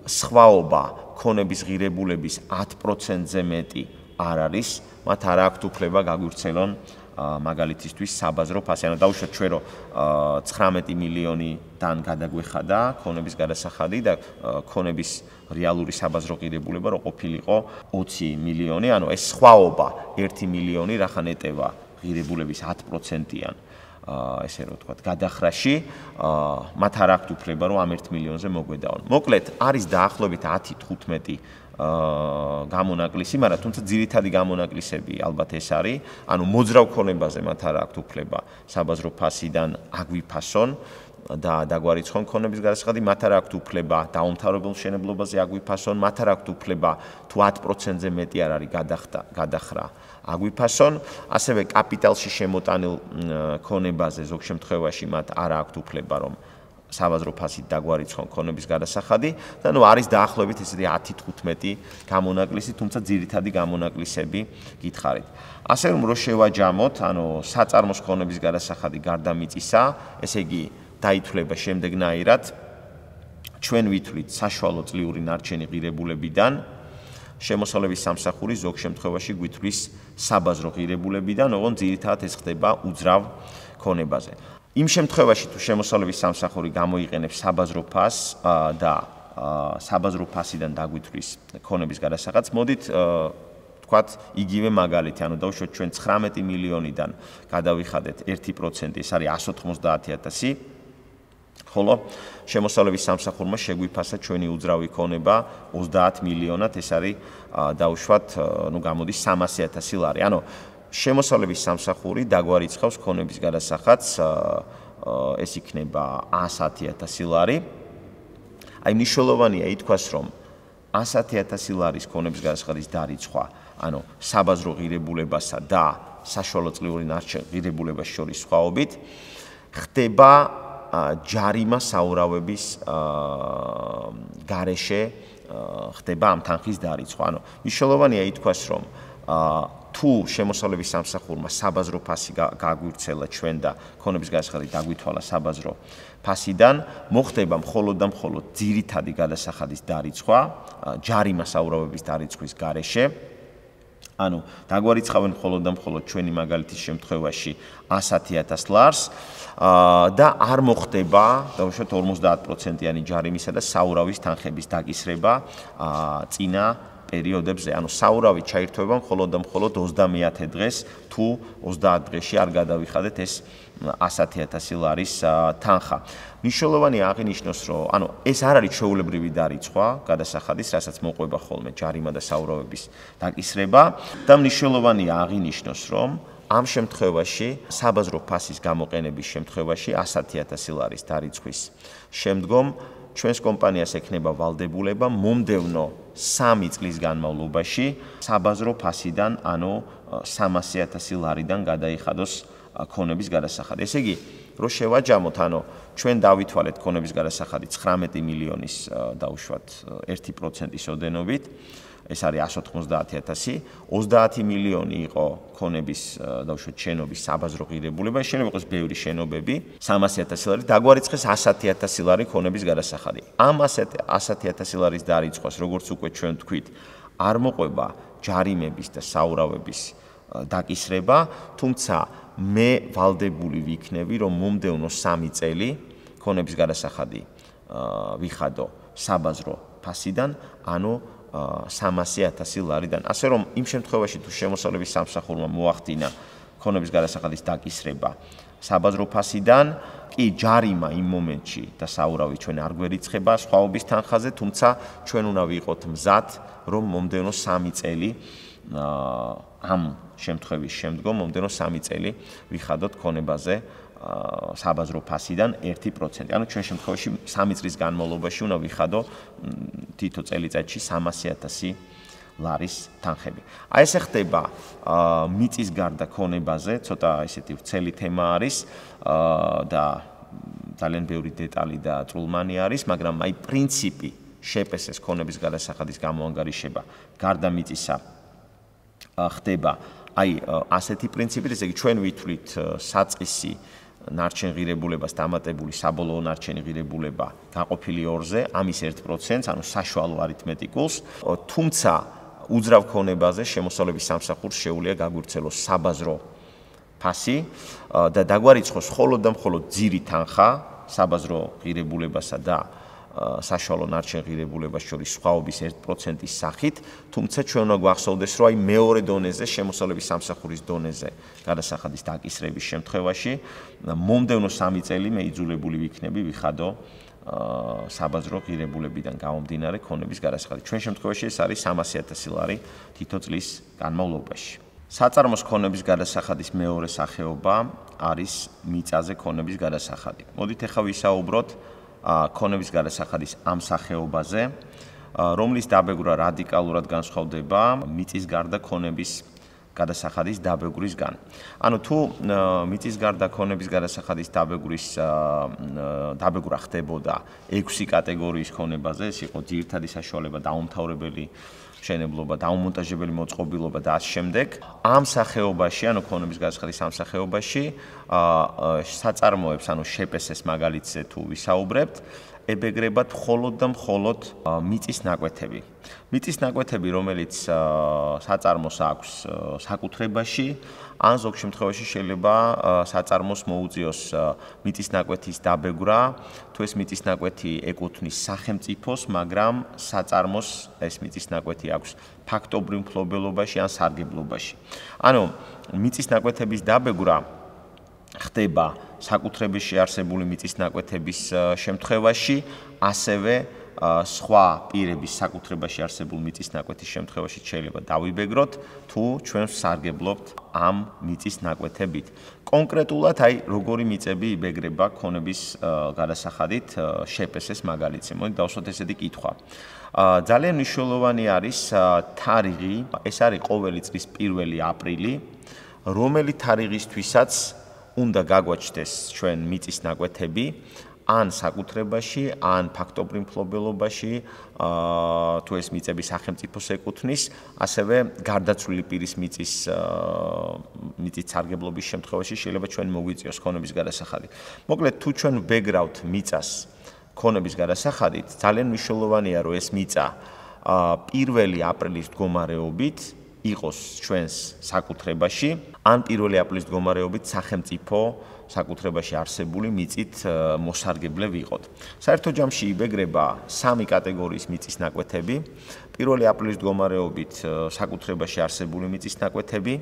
სხვაობა ქონების ღირებულების 10%-ზე მეტი არ არის, მათ არ აქვთ უფლება გაგვირცელონ მაგალითისთვის საბაზრო ფასი. ანუ დავუშვათ ჩვენ რომ 19 მილიონიდან გადაგვეხადა ქონების გადასახადი და ქონების რეალური საბაზრო ღირებულება რო ყოფილიყო 20 მილიონი, ანუ ეს სხვაობა 1 მილიონი რახან ეტევა ღირებულების 10%-იან ესე რომ ვთქვათ, გადახრაში, მათ არ აქვთ უფლება რომ ამ 1 მილიონზე მოგვედაონ. მოკლედ, არის დაახლოებით 10-15 გამონაკლისი, მაგრამ თუმცა ძირითადი გამონაკლისები ალბათ ეს არის, ანუ მოძრავ ქონებაზე მათ არ აქვთ უფლება საბაზრო ფასიდან აგვიფასონ და დაგვარიცხონ ქონების გადასახადი, მათ არ აქვთ უფლება დაუმთავრებელ მშენებლობაზე აგვიფასონ, მათ არ აქვთ უფლება თუ 10%-ზე მეტი არ არის გადახრა აგვიფასონ, ასევე კაპიტალში შემოტანილ ქონებაზე ზოგ შემთხვევაში მათ არ აქვთ უფლება რომ საბაზრო ფასით დაგვარიცხონ ქონების გადასახადი და ნუ არის დაახლოებით ესეთი 10-15 გამონაკლისი, თუმცა ძირითადი გამონაკლისები გითხარით. ასე რომ რო შევაჯამოთ, ანუ საწარმოს ქონების გადასახადი გარდა მიწისა, ესე იგი დაითვლება შემდეგნაირად, ჩვენ ვითვლით საშუალო წლიური ნარჩენი ღირებულებიდან, შემოსავლების სამსახური ზოგ შემთხვევაში გვითვლის საბაზრო ღირებულებიდან, ოღონდ ძირითადად ეს ხდება უძრავ ქონებაზე. იმ შემთხვევაში თუ შემოსავლების სამსახური გამოიყენებს საბაზრო ფასს და საბაზრო ფასიდან დაგვითვლის ქონების გადასახადს, მოდით ვთქვათ იგივე მაგალითი, ანუ დავუშვათ ჩვენ 19 მილიონიდან გადავიხადეთ 1%, ეს არის 190,000, ხოლო შემოსავლების სამსახურმა შეგვიფასა ჩვენი უძრავი ქონება 30 მილიონად, ეს არის დავუშვათ, ნუ გამოდის 300,000 ლარი. ანუ შემოსავლების სამსახური დაგვარიცხავს ქონების გადასახადს, ეს იქნება 110,000 ლარი. აი მნიშვნელოვანია ითქვას, რომ 110,000 ლარის ქონების გადასახადის დარიცხვა, ანუ საბაზრო ღირებულებასა და საშუალო წლიური ნარჩენ ღირებულებას შორის სხვაობით, ხდება ჯარიმა საურავების გარეშე ხდება ამ თანხის დარიცხვა. ანუ მნიშვნელოვანია ითქვას, რომ თუ შემოსავლების სამსახურმა საბაზრო ფასი გაგვირცელა ჩვენ და ქონების გადასახადი დაგვითვალა საბაზრო ფასიდან, მოხდება მხოლოდ და მხოლოდ ძირითადი გადასახადის დარიცხვა, ჯარიმა საურავების დარიცხვის გარეშე. ანუ დაგვარიცხავენ მხოლოდ და მხოლოდ ჩვენი მაგალითის შემთხვევაში 110,000 ლარს და არ მოხდება, დავუშვათ 50%-იანი ჯარიმისა და საურავის თანხების დაკისრება წინა პერიოდებზე, ანუ საურავი ჩაირთვება მხოლოდ და მხოლოდ 30 დღეს, თუ 30 დღეში არ გადავიხადეთ ეს 110,000 ლარის თანხა. მნიშვნელოვანია აღინიშნოს, რომ ანუ ეს არ არის ჩვეულებრივი დარიცხვა გადასახადის, რასაც მოყვება ხოლმე ჯარიმა და საურავების დაკისრება და მნიშვნელოვანია აღინიშნოს, რომ ამ შემთხვევაში საბაზრო ფასის გამოყენების შემთხვევაში 110,000 ლარის დარიცხვის შემდგომ ჩვენს კომპანიას ექნება ვალდებულება მომდევნო 3 წლის განმავლობაში საბაზრო ფასიდან, ანუ 300,000 ლარიდან გადაიხადოს ქონების გადასახადი. ესე იგი, რო შევაჯამოთ, ანუ ჩვენ დავითვალეთ ქონების გადასახადი 19 მილიონის დაუშვათ 1%-ის ოდენობით, ეს არის 190,000, 30 მილიონი იყო ქონების დავუშვათ შენობის საბაზრო ღირებულება, შენობა იყოს ბევრი შენობები, 300,000 ლარი, დაგვარიცხეს 110,000 ლარი ქონების გადასახადი. ამ 110,000 ლარის დარიცხვას, როგორც უკვე ჩვენ ვთქვით, არ მოყვება ჯარიმების და საურავების დაკისრება, თუმცა მე ვალდებული ვიქნები, რომ მომდევნო 3 წელი ქონების გადასახადი ვიხადო საბაზრო ფასიდან, ანუ 300,000 ლარიდან. ასე რომ იმ შემთხვევაში თუ შემოსავლების სამსახურმა მოახდინა ქონების გადასახადის დაკისრება საბაზრო ფასიდან, კი ჯარიმა იმ მომენტში და საურავი ჩვენ არ გვერიცხება სხვაობის თანხაზე, თუმცა ჩვენ უნდა ვიყოთ მზად, რომ მომდევნო 3 წელი ამ შემთხვევის შემდგომ მომდევნო 3 წელი ვიხადოთ ქონებაზე საბაზრო ფასიდან 1%. ანუ ჩვენ შემთხვევაში 3 წლის განმავლობაში უნდა ვიხადო თითო წელიწადში 300,000 ლარის თანხები. აი ესე ხდება მიწის გარდა ქონებაზე, ცოტა ესეთი ვრცელი თემა არის და ძალიან ბევრი დეტალი და წულმანი არის, მაგრამ აი პრინციპი შეპესეს ქონების გადასახადის გამოანგარიშება გარდა მიწისა ხდება აი ასეთი პრინციპით, ესე იგი ჩვენ ვითვლით საწყისი ნარჩენ ღირებულებას დამატებული საბოლოო ნარჩენი ღირებულება გაყოფილი 2-ზე, ამის 1%, ანუ საშუალო არითმეტიკულს, თუმცა უძრავ ქონებაზე შემოსავლების სამსახურს შეუძლია გაგვირთელოს საბაზრო ფასი და დაგვარიცხოს მხოლოდ და მხოლოდ ძირი თანხა საბაზრო ღირებულებასა და საშუალო ნარჩენ ღირებულებას შორის სხვაობის 1%-ის სახით, თუმცა ჩვენ უნდა გვახსოვდეს, რომ აი მეორე დონეზე, შემოსავლების სამსახურის დონეზე გადასახადის დაკისრების შემთხვევაში მომდევნო 3 წელი მე იძულებული ვიქნები ვიხადო საბაზრო ღირებულებიდან გამომდინარე ქონების გადასახადი. ჩვენ შემთხვევაში ეს არის 300,000 ლარი თითო წლის განმავლობაში. საწარმოს ქონების გადასახადის მეორე სახეობა არის მიწაზე ქონების გადასახადი. მოდით ახლა ვისაუბროთ ქონების გადასახადის ამ სახეობაზე, რომლის დაბეგვრა რადიკალურად განსხვავდება მიწის გარდა ქონების გადასახადის დაბეგვრისგან. ანუ თუ მიწის გარდა ქონების გადასახადის დაბეგვრა ხდებოდა 6 კატეგორიის ქონებაზე, ეს იყო ძირითადი საშუალება, დაუმთავრებელი მშენებლობა, დაუმონტაჟებელი მოწყობილობა და ამ შემდეგ, ამ სახეობაში, ანუ ქონების გადასახადის ამ სახეობაში, საწარმოებს, ანუ შეპესეს მაგალითზე თუ ვისაუბრებთ, ებეგრებათ მხოლოდ და მხოლოდ მიწის ნაკვეთები. მიწის ნაკვეთები, რომელიც საწარმოს აქვს საკუთრებაში, ან ზოგ შემთხვევაში შეიძლება საწარმოს მოუწიოს მიწის ნაკვეთის დაბეგვრა, თუ ეს მიწის ნაკვეთი ეკუთვნის სახელმწიფოს, მაგრამ საწარმოს ეს მიწის ნაკვეთი აქვს ფაქტობრივ მფლობელობაში ან სარგებლობაში. ანუ მიწის ნაკვეთების დაბეგვრა ხდება საკუთრებაში არსებული მიწის ნაკვეთების შემთხვევაში, ასევე სხვა პირების საკუთრებაში არსებული მიწის ნაკვეთის შემთხვევაში შეიძლება დავიბეგროთ, თუ ჩვენ სარგებლობთ ამ მიწის ნაკვეთებით. კონკრეტულად აი როგორი მიწები იბეგრება ქონების გადასახადით შეპესეს მაგალითზე. მოდით დავსვათ ესეთი კითხვა. ძალიან მნიშვნელოვანი არის თარიღი, ეს არის ყოველი წლის 1 აპრილი, რომელი თარიღისთვისაც უნდა გაგვაჩნდეს ჩვენ მიწის ნაკვეთები ან საკუთრებაში, ან ფაქტობრივ მფლობელობაში, თუ ეს მიწები სახელმწიფოს ეკუთვნის, ასევე გარდაცვლილი პირის მიწის სარგებლობის შემთხვევაში შეიძლება ჩვენ მოგვიწიოს ქონების გადასახადი. მოკლედ, თუ ჩვენ ვბეგრავთ მიწას ქონების გადასახადით, ძალიან მნიშვნელოვანია, რომ ეს მიწა 1 აპრილის მდგომარეობით იყოს ჩვენს საკუთრებაში, ან 1 აპრილის მდგომარეობით სახელმწიფო საკუთრებაში არსებული მიწით მოსარგებლე ვიყოთ. საერთო ჯამში იბეგრება 3 კატეგორიის მიწის ნაკვეთები, 1 აპრილის მდგომარეობით საკუთრებაში არსებული მიწის ნაკვეთები,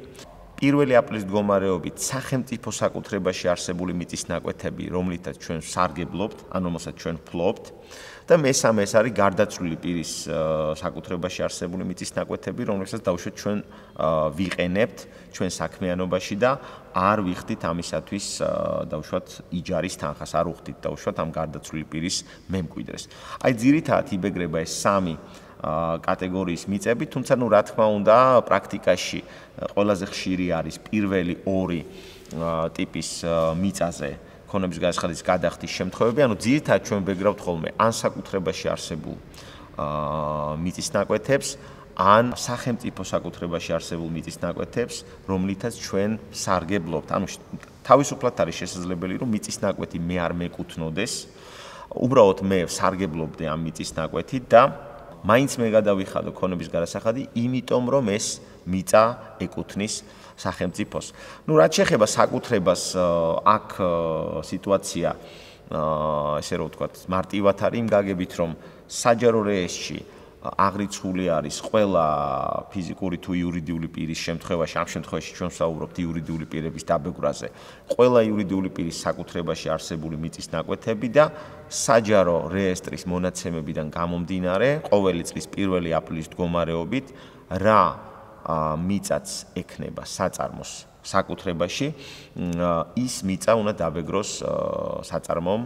1 აპრილის მდგომარეობით სახელმწიფო საკუთრებაში არსებული მიწის ნაკვეთები, რომლითაც ჩვენ სარგებლობთ, ან რომელსაც ჩვენ ფლობთ, და მესამე ეს არის გარდაცვლილი პირის საკუთრებაში არსებული მიწის ნაკვეთები, რომლებსაც დავუშვათ ჩვენ ვიყენებთ ჩვენ საქმიანობაში და არ ვიხდით ამისათვის დავუშვათ იჯარის თანხას, არ ვხდით დავუშვათ ამ გარდაცვლილი პირის მემკვიდრეს. აი ძირითადად იბეგრება ეს 3 კატეგორიის მიწები, თუმცა რა თქმა უნდა, პრაქტიკაში ყველაზე ხშირი არის პირველი 2 ტიპის მიწაზე ქონების გადასახადის გადახდის შემთხვევები, ანუ ძირითადად ჩვენ ვბეგრავთ ხოლმე ან საკუთრებაში არსებულ მიწის ნაკვეთებს, ან სახელმწიფო საკუთრებაში არსებულ მიწის ნაკვეთებს, რომლითაც ჩვენ სარგებლობთ. ანუ თავისუფლად არის შესაძლებელი, რომ მიწის ნაკვეთი მე არ მეკუთვნოდეს, უბრალოდ მე სარგებლობდე ამ მიწის ნაკვეთით და მაინც მე გადავიხადო ქონების გადასახადი, იმიტომ რომ ეს მიწა ეკუთვნის სახელმწიფოს. ნუ რაც შეეხება საკუთრებას, აქ სიტუაცია ესე რომ ვთქვათ, მარტივად არის იმ გაგებით, რომ საჯარო რეესტრში აღრიცხული არის ყველა ფიზიკური თუ იურიდიული პირის შემთხვევაში, ამ შემთხვევაში ჩვენ ვსაუბრობთ იურიდიული პირების დაბეგვრაზე, ყველა იურიდიული პირის საკუთრებაში არსებული მიწის ნაკვეთები და საჯარო რეესტრის მონაცემებიდან გამომდინარე, ყოველი წლის 1 აპრილის მდგომარეობით რა მიწაც ექნება საწარმოს საკუთრებაში, ის მიწა უნდა დაბეგროს საწარმომ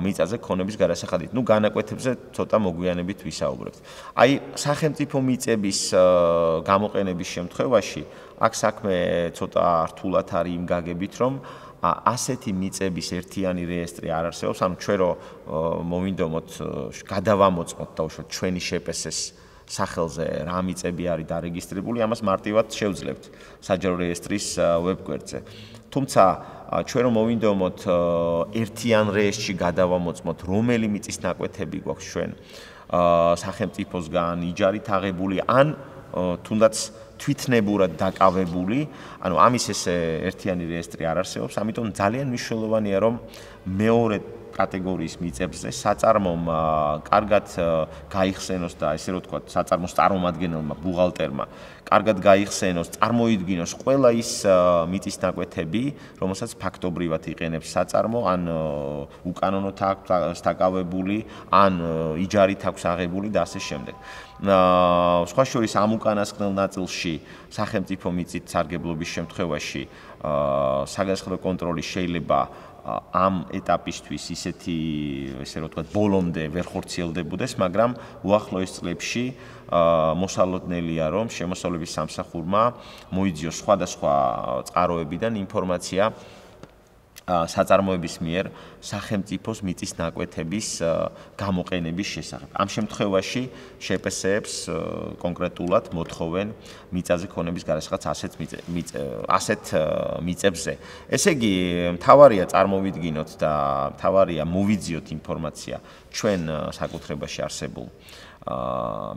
მიწაზე ქონების გადასახადით. ნუ განაკვეთებზე ცოტა მოგვიანებით ვისაუბრებთ. აი, სახელმწიფო მიწების გამოყენების შემთხვევაში აქ საქმე ცოტა რთულად არის იმ გაგებით, რომ ასეთი მიწების ერთიანი რეესტრი არ არსებობს, ანუ ჩვენ რო მოვინდომოთ გადავამოწმოთ დაუშვათ ჩვენი შეპესეს სახელზე რა მიწები არის დარეგისტრირებული, ამას მარტივად შევძლებთ საჯარო რეესტრის ვებგვერდზე. თუმცა ჩვენ რომ მოვინდომოთ ერთიან რეესტრში გადავამოწმოთ, რომელი მიწის ნაკვეთები გვაქვს ჩვენ სახელმწიფოსგან იჯარით აღებული ან თუნდაც თვითნებურად დაკავებული, ანუ ამის ესე ერთიანი რეესტრი არ არსებობს, ამიტომ ძალიან მნიშვნელოვანია რომ მეორე კატეგორიის მიწებზე საწარმომ კარგად გაიხსენოს და ესე რომ ვთქვათ, საწარმოს წარმომადგენელმა, ბუღალტერმა კარგად გაიხსენოს, წარმოიდგინოს ყველა ის მიწის ნაკვეთები, რომელსაც ფაქტობრივად იყენებს საწარმო, ან უკანონოდ აქვს დაკავებული, ან იჯარით აქვს აღებული და ასე შემდეგ. სხვა შორის ამ უკანასკნელ ნაწილში სახელმწიფო მიწით სარგებლობის შემთხვევაში საგანსახადო კონტროლი შეიძლება ამ ეტაპისთვის ისეთი, ესე რომ ვთქვათ, ბოლომდე ვერ ხორციელდებოდეს, მაგრამ უახლოეს წლებში მოსალოდნელია, რომ შემოსავლების სამსახურმა მოიძიოს სხვადასხვა წყაროებიდან ინფორმაცია საწარმოების მიერ სახელმწიფოს მიწის ნაკვეთების გამოყენების შესახებ. ამ შემთხვევაში შეპესეებს კონკრეტულად მოთხოვენ მიწაზე ქონების გადასახადს ასეთ მიწებზე. ესე იგი, მთავარია წარმოვიდგინოთ და მთავარია მოვიძიოთ ინფორმაცია ჩვენ საკუთრებაში არსებულ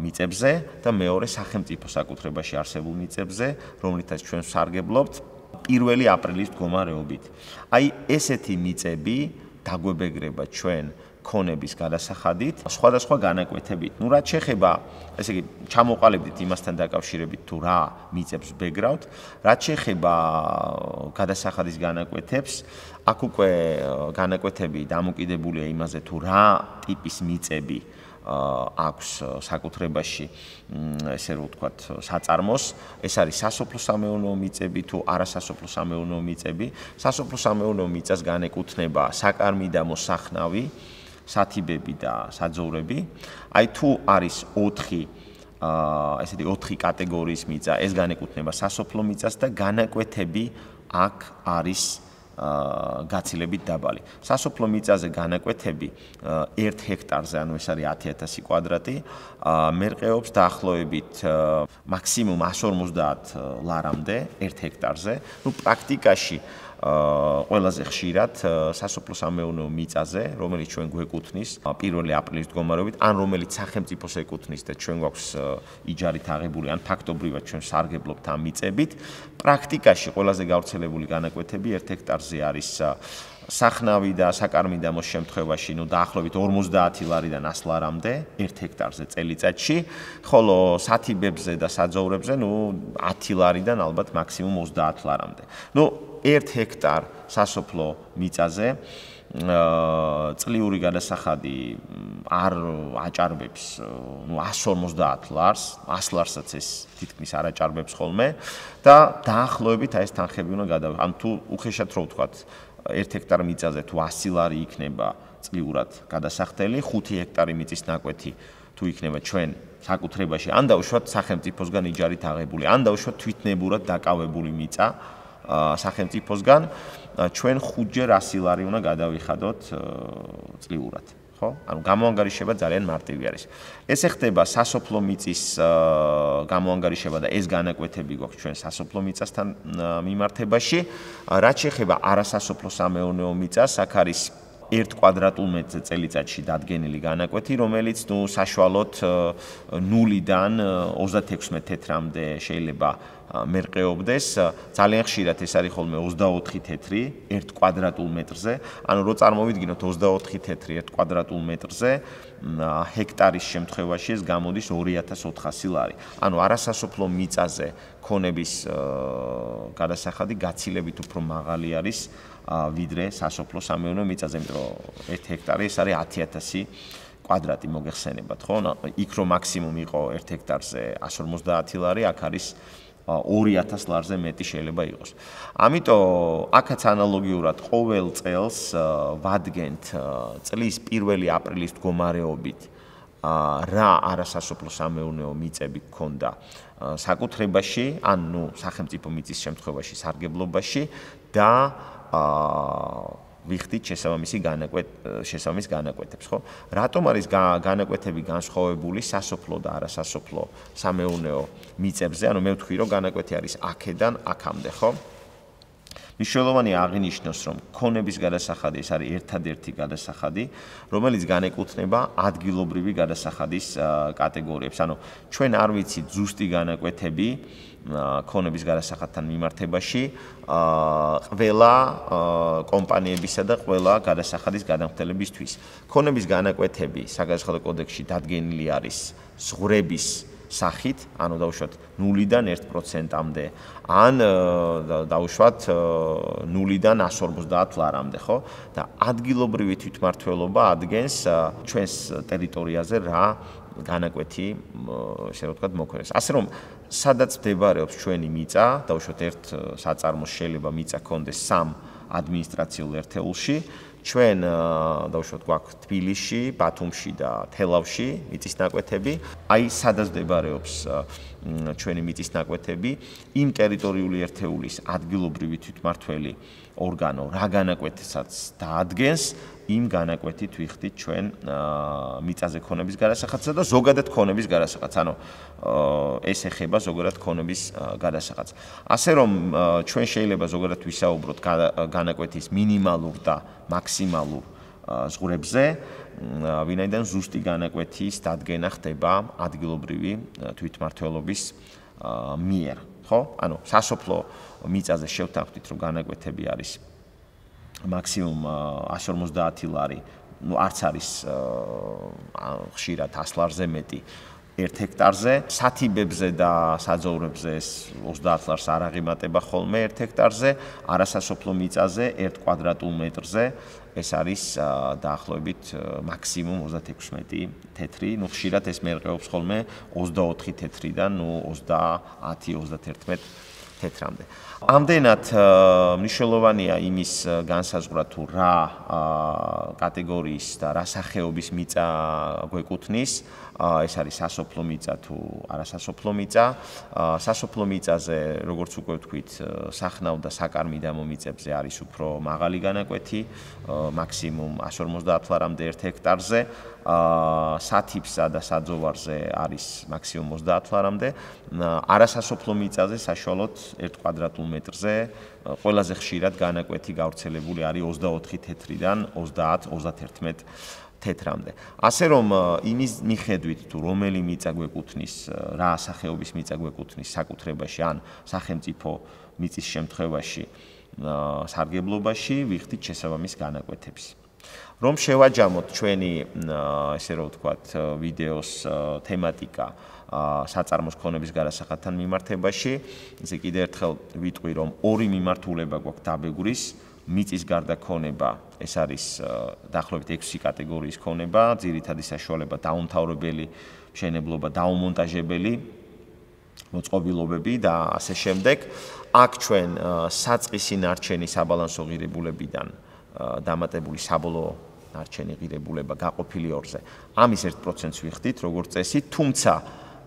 მიწებზე და მეორე სახელმწიფო საკუთრებაში არსებულ მიწებზე, რომლითაც ჩვენ ვსარგებლობთ 1 აპრილის მდგომარეობით. აი, ესეთი მიწები დაგვებეგრება ჩვენ ქონების გადასახადით, სხვადასხვა განაკვეთებით. ნუ რაც შეეხება, ესე იგი, ჩამოყალიბდით იმასთან დაკავშირებით თუ რა მიწებს ვბეგრავთ, რაც შეეხება გადასახადის განაკვეთებს, აქ უკვე განაკვეთები დამოკიდებულია იმაზე თუ რა ტიპის მიწები აქვს საკუთრებაში, ესე რომ ვთქვათ, საწარმოს, ეს არის სასოფლო-სამეურნეო მიწები თუ არასასოფლო-სამეურნეო მიწები. სასოფლო-სამეურნეო მიწას განეკუთვნება საკარმიდამო სახნავი, სათიბები და საძოვრები. აი თუ არის 4 კატეგორიის მიწა, ეს განეკუთვნება სასოფლო მიწას და განაკვეთები აქ არის გაცილებით დაბალი. სასოფლო მიწაზე განაკვეთები 1 ჰექტარზე, ანუ ეს არის 10,000 კვადრატი, მერყეობს დაახლოებით მაქსიმუმ 150 ლარამდე 1 ჰექტარზე. ნუ პრაქტიკაში ყველაზე ხშირად სასოფლო-სამეურნეო მიწაზე, რომელიც ჩვენ გვეკუთვნის 1 აპრილის მდგომარეობით, ან რომელიც სახელმწიფოს ეკუთვნის და ჩვენ გვაქვს იჯარით აღებული, ან ფაქტობრივად ჩვენ სარგებლობთ ამ მიწებით, პრაქტიკაში ყველაზე გავრცელებული განაკვეთები 1 ჰექტარზე არის სახნავი და საკარმიდამოს შემთხვევაში, ნუ დაახლოებით 50 ლარიდან 100 ლარამდე 1 ჰექტარზე წელიწადში, ხოლო სათიბებზე და საძოვრებზე, ნუ 10 ლარიდან ალბათ მაქსიმუმ 30 ლარამდე. ნუ 1 ჰექტარ სასოფლო მიწაზე წლიური გადასახადი არ აჭარბებს, ნუ 150 ლარს, 100 ლარსაც ეს თითქმის არ აჭარბებს ხოლმე და დაახლოებით ეს თანხები უნდა გადავიღოთ. ან თუ უხეშად რო ვთქვათ, 1 ჰექტარ მიწაზე თუ 100 ლარი იქნება წლიურად გადასახდელი, 5 ჰექტარი მიწის ნაკვეთი თუ იქნება ჩვენ საკუთრებაში, ან დაუშვათ სახელმწიფოსგან იჯარით აღებული, ან დაუშვათ თვითნებურად დაკავებული მიწა სახელმწიფოსგან, ჩვენ 5-ჯერ 100 ლარი უნდა გადავიხადოთ წლიურად. ხო? ანუ გამოანგარიშება ძალიან მარტივი არის. ეს ეხება სასოფლო მიწის გამოანგარიშება და ეს განაკვეთები გვაქვს ჩვენ სასოფლო მიწასთან მიმართებაში. რაც შეეხება არასასოფლო-სამეურნეო მიწას, აქ არის 1 კვადრატულ მეტრზე წელიწადში დადგენილი განაკვეთი, რომელიც საშუალოდ 0-დან 36 თეთრამდე შეიძლება მერყეობდეს. ძალიან ხშირად ეს არის ხოლმე 24 თეთრი 1 კვადრატულ მეტრზე. ანუ რო წარმოვიდგინოთ 24 თეთრი 1 კვადრატულ მეტრზე, ჰექტარის შემთხვევაში ეს გამოდის 2400 ლარი. ანუ არასასოფლო მიწაზე ქონების გადასახადი გაცილებით უფრო მაღალი არის ვიდრე სასოფლო სამეურნეო მიწაზე, იმიტომ რომ 1 ჰექტარი ეს არის 10000 კვადრატი მოგეხსენებათ, ხო? იქ რომ მაქსიმუმ იყო 1 ჰექტარზე 150 ლარი, აქ არის 2000 ლარზე მეტი შეიძლება იყოს. ამიტომ აქაც ანალოგიურად ყოველ წელს ვადგენთ წლის 1 აპრილის მდგომარეობით რა არასასოფლო სამეურნეო მიწები გქონდა საკუთრებაში, ან სახელმწიფო მიწის შემთხვევაში სარგებლობაში და ვიხდით შესაბამის განაკვეთებს, ხო? რატომ არის განაკვეთები განსხვავებული სასოფლო და არასასოფლო სამეურნეო მიწებზე? ანუ მე ვთქვი, რომ განაკვეთი არის აქედან აქამდე, ხო? მნიშვნელოვანია აღინიშნოს, რომ ქონების გადასახადი ეს არის ერთადერთი გადასახადი, რომელიც განეკუთვნება ადგილობრივი გადასახადის კატეგორიებს. ანუ ჩვენ არ ვიცით ზუსტი განაკვეთები ქონების გადასახადთან მიმართებაში ყველა კომპანიებისა და ყველა გადასახადის გადამხდელებისთვის. ქონების განაკვეთები საგადასახადო კოდექსში დადგენილი არის ზღვრების სახით, ანუ დავუშვათ 0-დან 1%-მდე, ან დავუშვათ 0-დან 150 ლარამდე, ხო? და ადგილობრივი თვითმმართველობა ადგენს ჩვენს ტერიტორიაზე რა განაკვეთი, ესე რომ ვთქვათ, მოქმედებს. ასე რომ, სადაც მდებარეობს ჩვენი მიწა, დავუშვათ ერთ საწარმოს შეიძლება მიწა ქონდეს 3 ადმინისტრაციულ ერთეულში, ჩვენ დავუშვათ გვაქვს თბილისში, ბათუმში და თელავში მიწის ნაკვეთები. აი სადაც მდებარეობს ჩვენი მიწის ნაკვეთები, იმ ტერიტორიული ერთეულის ადგილობრივი თვითმმართველი ორგანო რა განაკვეთსაც დაადგენს, იმ განაკვეთით ვიხდით ჩვენ მიწაზე ქონების გადასახადსა და ზოგადად ქონების გადასახადს. ანუ ეს ეხება ზოგადად ქონების გადასახადს. ასე რომ ჩვენ შეიძლება ზოგადად ვისაუბროთ განაკვეთის მინიმალურ და მაქსიმალურ ზღვრებზე, ვინაიდან ზუსტი განაკვეთის დადგენა ხდება ადგილობრივი თვითმმართველობის მიერ, ხო? ანუ სასოფლო მიწაზე შევთანხმდით, რომ განაკვეთები არის მაქსიმუმ 150 ლარი, არც არის ხშირად 100 ლარზე მეტი 1 ჰექტარზე. სათიბებზე და საძოვრებზე ეს 30 ლარს არ აღემატება ხოლმე 1 ჰექტარზე, არასასოფლო მიწაზე 1 კვადრატულ მეტრზე ეს არის დაახლოებით მაქსიმუმ 36 თეთრი, ხშირად ეს მერყეობს ხოლმე 24 თეთრიდან 30-31 თეთრამდე. ამდენად მნიშვნელოვანია იმის განსაზღვრა თუ რა კატეგორიის და რა სახეობის მიწა გვეკუთვნის, ეს არის სასოფლო მიწა თუ არასასოფლო მიწა. სასოფლო მიწაზე, როგორც უკვე ვთქვით, სახნავ და საკარმიდამო მიწებზე არის უფრო მაღალი განაკვეთი, მაქსიმუმ 150 ლარამდე 1 ჰექტარზე. სათიბსა და საძოვარზე არის მაქსიმუმ 30 ლარამდე. არასასოფლო მიწაზე საშუალოდ 1 კვადრატულ მეტრზე ყველაზე ხშირად განაკვეთი გავრცელებული არის 24 თეთრიდან 30-31 თეთრამდე. ასე რომ იმის მიხედვით თუ რომელი მიწა გვეკუთვნის, რა სახეობის მიწა გვეკუთვნის საკუთრებაში ან სახელმწიფო მიწის შემთხვევაში სარგებლობაში, ვიხდით შესაბამის განაკვეთებს. რომ შევაჯამოთ ჩვენი, ესე რომ ვთქვათ, ვიდეოს თემატიკა საწარმოს ქონების გადასახადთან მიმართებაში, ისე კიდევ ერთხელ ვიტყვი, რომ ორი მიმართულება გვაქვს დაბეგვრის, მიწის გარდა ქონება, ეს არის დაახლოებით 6 კატეგორიის ქონება, ძირითადი საშუალება დაუმთავრებელი მშენებლობა, დაუმონტაჟებელი მოწყობილობები და ასე შემდეგ. აქ ჩვენ საწყისი ნარჩენი საბალანსო ღირებულებიდან დამატებული საბოლოო ნარჩენი ღირებულება გაყოფილი 2-ზე. ამის 1%-ს ვიხდით, როგორც წესი, თუმცა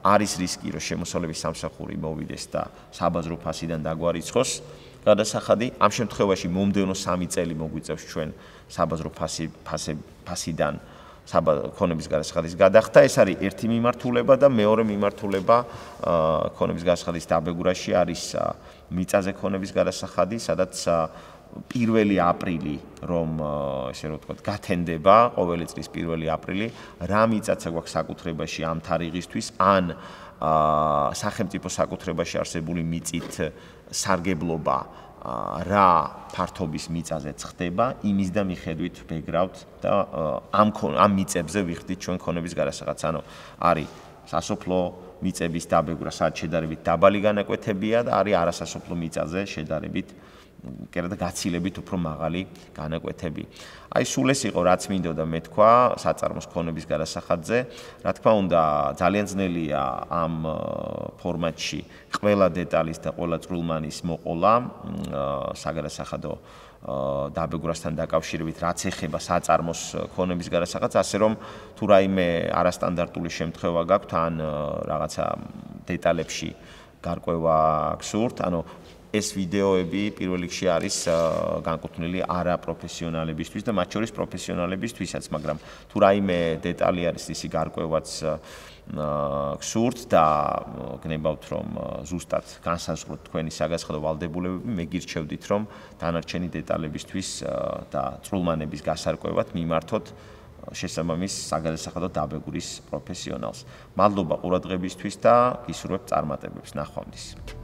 არის რისკი, რომ შემოსავლების სამსახური მოვიდეს და საბაზრო ფასიდან დაგვარიცხოს გადასახადი. ამ შემთხვევაში მომდევნო 3 წელი მოგვიწევს ჩვენ საბაზრო ფასიდან ქონების გადასახადის გადახდა. ეს არის ერთი მიმართულება და მეორე მიმართულება ქონების გადასახადის დაბეგვრაში არის მიწაზე ქონების გადასახადი, სადაც 1 აპრილი რომ ესე რომ ვთქვათ გათენდება ყოველი წლის 1 აპრილი რა მიწაცა გვაქვს საკუთრებაში ამ თარიღისთვის ან სახელმწიფო საკუთრებაში არსებული მიწით სარგებლობა რა ფართობის მიწაზეც ხდება იმის და მიხედვით ვეგრავთ და ამ მიწებზე ვიხდით ჩვენ ქონების გარასახადს ანუ არის სასოფლო მიწების დაბეგვრა სადაც შედარებით დაბალი განაკვეთებია და არის არასასოფლო მიწაზე შედარებით კერდა გაცილებით უფრო მაღალი განაკვეთები. აი სულ ეს იყო რაც მინდოდა მე თქვა საწარმოს ქონების გარასახადზე. რა თქმა უნდა, ძალიან ძნელია ამ ფორმატში ყველა დეტალის და ყველა წვრილმანის მოყოლა საგარასახადო დაბეგვრასთან დაკავშირებით, რაც ეხება საწარმოს ქონების გარასახადს, ასე რომ თუ რაიმე არასტანდარტული შემთხვევა გაქვთ ან რაღაცა დეტალებში გარკვევა გსურთ, ანუ ეს ვიდეოები პირველ რიგში არის განკუთვნილი არაპროფესიონალებისთვის და მათ შორის პროფესიონალებისთვისაც, მაგრამ თუ რაიმე დეტალი არის ისი გარკვევაც გსურთ და გნებავთ რომ ზუსტად განსაზღვროთ თქვენი საგასახადო ვალდებულებები, მე გირჩევდით რომ დანარჩენი დეტალებისთვის და წვრილმანების გასარკვევად მიმართოთ შესაბამის საგასახადო დაბეგვრის პროფესიონალს. მადლობა ყურადღებისთვის და გისურვებთ წარმატებებს. ნახვამდის.